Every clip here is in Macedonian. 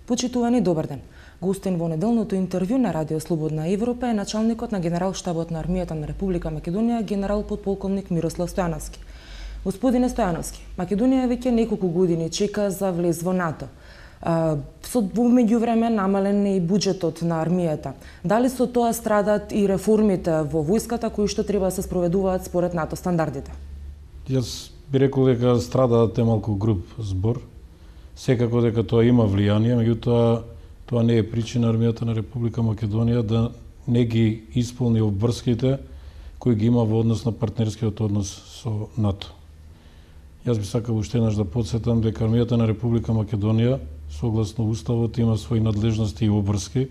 Почитувани, добар ден. Гостин во неделното интервју на Радио Слободна Европа е началникот на Генерал-штабот на армијата на Република Македонија, генерал подполковник Мирослав Стојановски. Господине Стојановски, Македонија веќе неколку години чека за влез во НАТО. Со меѓувреме намален е и буџетот на армијата. Дали со тоа страдат и реформите во војската кои што треба да се спроведуваат според НАТО стандардите? Јас би рекол дека страдаат е малку груб збор. Секако дека тоа има влијание, меѓутоа тоа не е причина армијата на Република Македонија да не ги исполни обврските кои ги има во однос на партнерскиот однос со НАТО. Јас би сакал уште еднаш да потсетам дека армијата на Република Македонија согласно уставот има своји надлежности и обврски,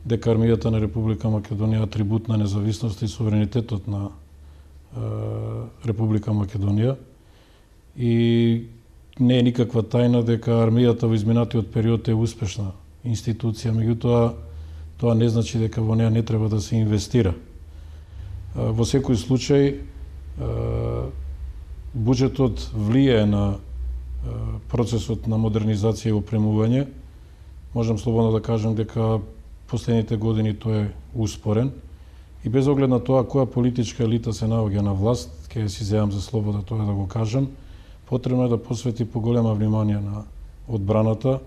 дека армијата на Република Македонија е атрибут на независност и суверенитетот на Република Македонија и не е никаква тајна дека армијата во изминатиот период е успешна институција, меѓутоа тоа не значи дека во неа не треба да се инвестира. Во секој случај буџетот влијае на процесот на модернизација и опремување. Можам слободно да кажам дека последните години тој е успорен и без оглед на тоа која политичка елита се наоѓа на власт, ќе си земам за слобода тоа да го кажам, потребно е да посвети поголема внимание на одбраната,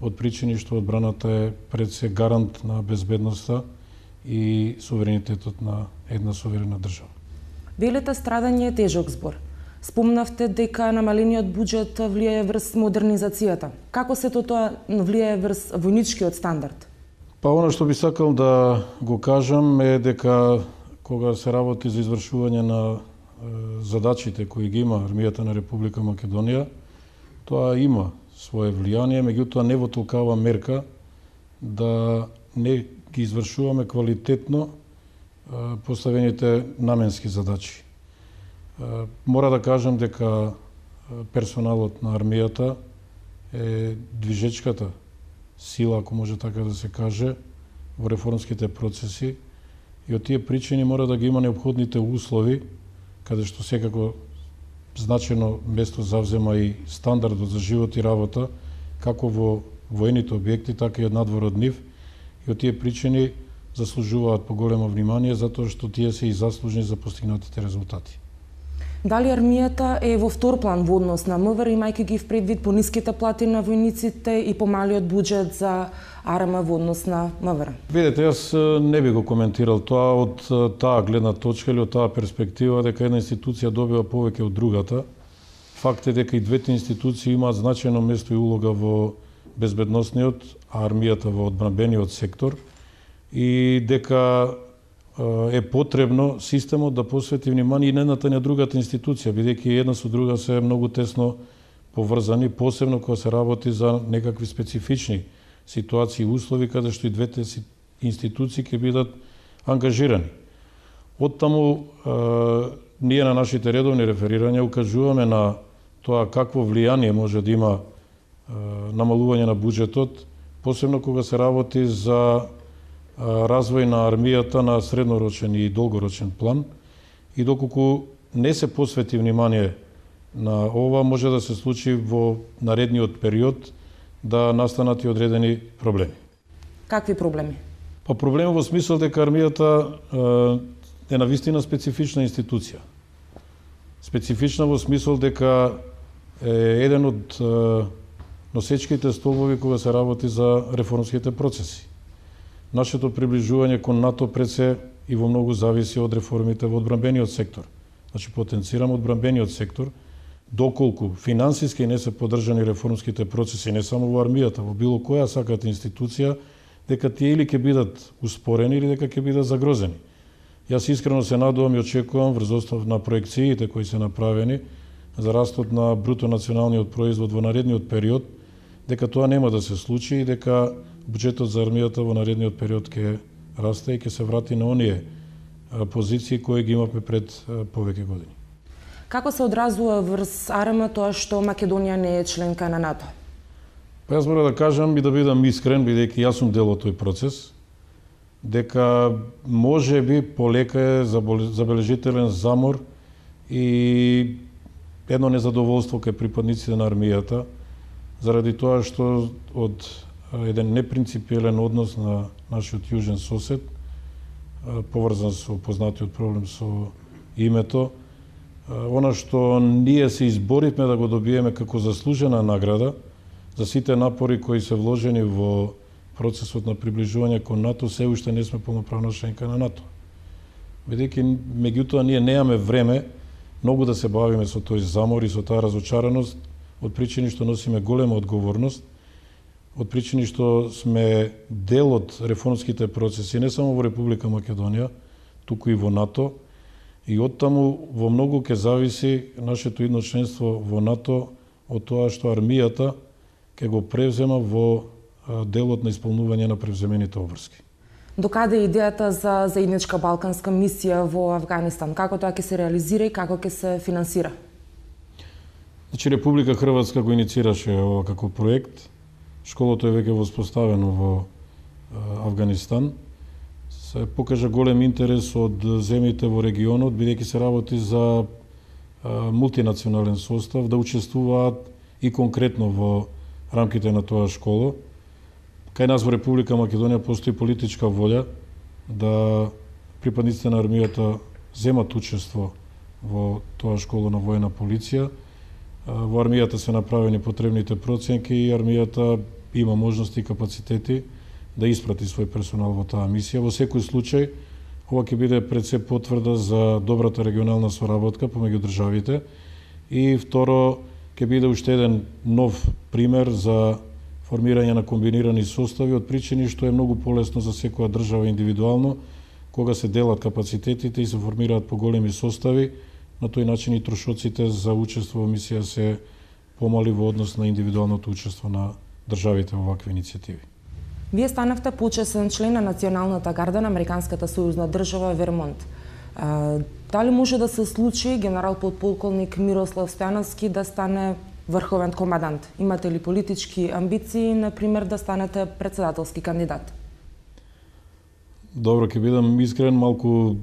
од причини што одбраната е пред се гарант на безбедноста и суверенитетот на една суверена држава. Велите страдање е тежок збор. Спомнавте дека намалениот буџет влијае врз модернизацијата. Како се тоа влијае врз војничкиот стандард? Па она што би сакал да го кажам е дека кога се работи за извршување на задачите кои ги има армијата на Република Македонија, тоа има свое влијание, меѓутоа не во толкава мерка да не ги извршуваме квалитетно поставените наменски задачи. Мора да кажам дека персоналот на армијата е движечката сила, ако може така да се каже, во реформските процеси и од тие причини мора да ги има неопходните услови, каде што секако значено место завзема и стандардот за живот и работа, како во воените објекти, така и од надвор од нив, и од тие причини заслужуваат поголемо внимание, затоа што тие се и заслужни за постигнатите резултати. Дали армијата е во втор план во однос на МВР, имајќи ги впредвид пониските плати на војниците и помалиот буџет за АРМ во однос на МВР? Видете, јас не би го коментирал тоа од таа гледна точка или од таа перспектива дека една институција добива повеќе од другата. Факт е дека и двете институции имаат значајно место и улога во безбедносниот, а армијата во одбранбениот сектор и дека е потребно системот да посвети внимание и на едната и на другата институција, бидејќи една со друга се многу тесно поврзани, посебно кога се работи за некакви специфични ситуации и услови каде што и двете институции ќе бидат ангажирани. Оттаму ние на нашите редовни реферирања укажуваме на тоа какво влијание може да има намалување на буџетот, посебно кога се работи за развој на армијата на среднорочен и долгорочен план и доколку не се посвети внимание на ова, може да се случи во наредниот период да настанат и одредени проблеми. Какви проблеми? Па проблеми во смисол дека армијата е навистина специфична институција. Специфична во смисол дека е еден од носечките столбови кога се работи за реформските процеси. Нашето приближување кон НАТО пред се и во многу зависи од реформите во одбранбениот сектор. Значи, потенцирам одбранбениот сектор, доколку финансиски не се поддржани реформските процеси, не само во армијата, во било која сакате институција, дека тие или ќе бидат успорени или дека ќе бидат загрозени. Јас искрено се надувам и очекувам врз основ на проекциите кои се направени за растот на бруто националниот производ во наредниот период, дека тоа нема да се случи и дека буџетот за армијата во наредниот период ќе расте и ќе се врати на оние позиции кои ги имавме пред повеќе години. Како се одразува врз АРМ тоа што Македонија не е членка на НАТО? Па јас мора да кажам и да бидам искрен, бидејќи јас сум дел од тој процес, дека може би полека е забележителен замор и едно незадоволство кај припадниците на армијата, заради тоа што од еден непринципиелен однос на нашиот јужен сосед, поврзан со познатиот проблем со името. Она што ние се изборивме да го добиеме како заслужена награда за сите напори кои се вложени во процесот на приближување кон НАТО, се уште не сме полноправна членка на НАТО. Бидејќи меѓутоа ние немаме време многу да се бавиме со тој замор и со таа разочараност, од причини што носиме голема одговорност, од причини што сме дел од реформските процеси не само во Република Македонија, туку и во НАТО, и оттаму во многу ќе зависи нашето идно членство во НАТО од тоа што армијата ќе го превзема во делот на исполнување на превземените обврски. Докаде е идејата за заедничка балканска мисија во Авганистан? Како тоа ќе се реализира и како ќе се финансира? Значи, Република Хрватска го инициираше ова како проект. Школото е веќе воспоставено во Авганистан. Се покажа голем интерес од земјите во регионот, бидејќи се работи за мултинационален состав, да учествуваат и конкретно во рамките на тоа школо. Кај нас во Република Македонија постои политичка волја да припадниците на армијата земат учество во тоа школо на воена полиција. Во армијата се направени потребните проценки и армијата има можности и капацитети да испрати свој персонал во таа мисија. Во секој случај, ова ќе биде пред се потврда за добрата регионална соработка помеѓу државите и второ, ќе биде уште еден нов пример за формирање на комбинирани состави од причини што е многу полесно за секоја држава индивидуално, кога се делат капацитетите и се формираат поголеми состави, на тој начин и трошоците за учество во мисија се помали во однос на индивидуалното учество на државите во вакви иницијативи. Вие станавте почесен член на Националната гарда на Американската сојузна држава Вермонт. Дали може да се случи генерал подполковник Мирослав Стојановски да стане врховен командант? Имате ли политички амбиции, например, да станете председателски кандидат? Добро, ќе бидам искрен, малку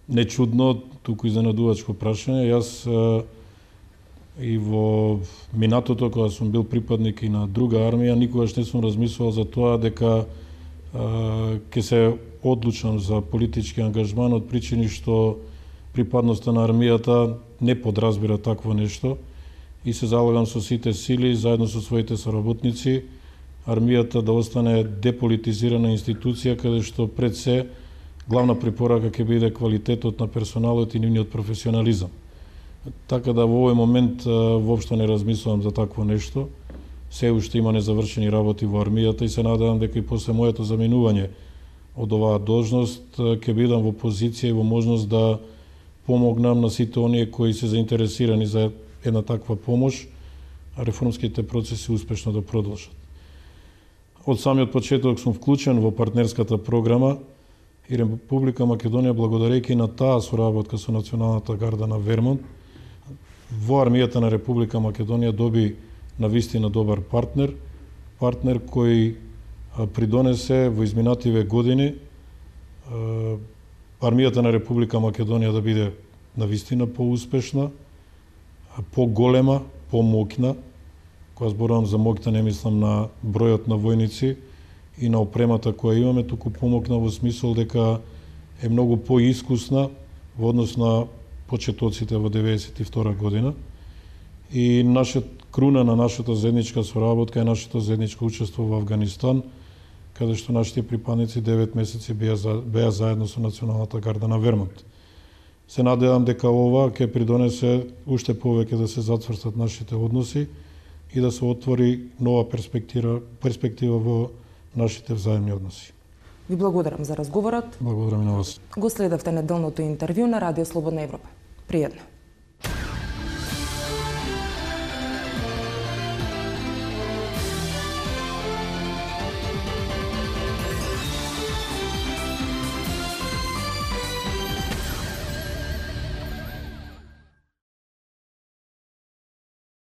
нечудно, туку изненадувачко прашање. Јас и во минатото, кога сум бил припадник и на друга армија, никогаш не сум размислувал за тоа дека ќе се одлучам за политички ангажман од причини што припадноста на армијата не подразбира такво нешто и се залагам со сите сили, заедно со своите соработници, армијата да остане деполитизирана институција, каде што пред се главна препорака ќе биде квалитетот на персоналот и нивниот професионализам. Така да во овој момент воопшто не размислувам за такво нешто. Се уште има незавршени работи во армијата и се надевам дека и после моето заминување од оваа должност ќе бидам во позиција и во можност да помогнам на сите оние кои се заинтересирани за една таква помош, а реформските процеси успешно да продолжат. Од самиот почеток сум вклучен во партнерската програма и Република Македонија, благодарејќи на таа соработка со Националната гарда на Вермонт, во армијата на Република Македонија доби навистина добар партнер кој придонесе во изминативе години армијата на Република Македонија да биде навистина поуспешна, поголема, помоќна. Кога зборувам за моќна, не мислам на бројот на војници и на опремата која имаме, туку помоќна во смисол дека е многу поискусна во однос на почетоците во 1992 година. И круна на нашата заедничка соработка е нашето заедничко учество во Авганистан, каде што нашите припадници 9 месеци беа заедно со Националната гарда на Вермонт. Се надевам дека ова ќе придонесе уште повеќе да се зацврстат нашите односи и да се отвори нова перспектива во нашите взаимни односи. Ви благодарам за разговорот. Благодарам и на вас. Го следевте неделното интервју на Радио Слободна Европа. Пријатно.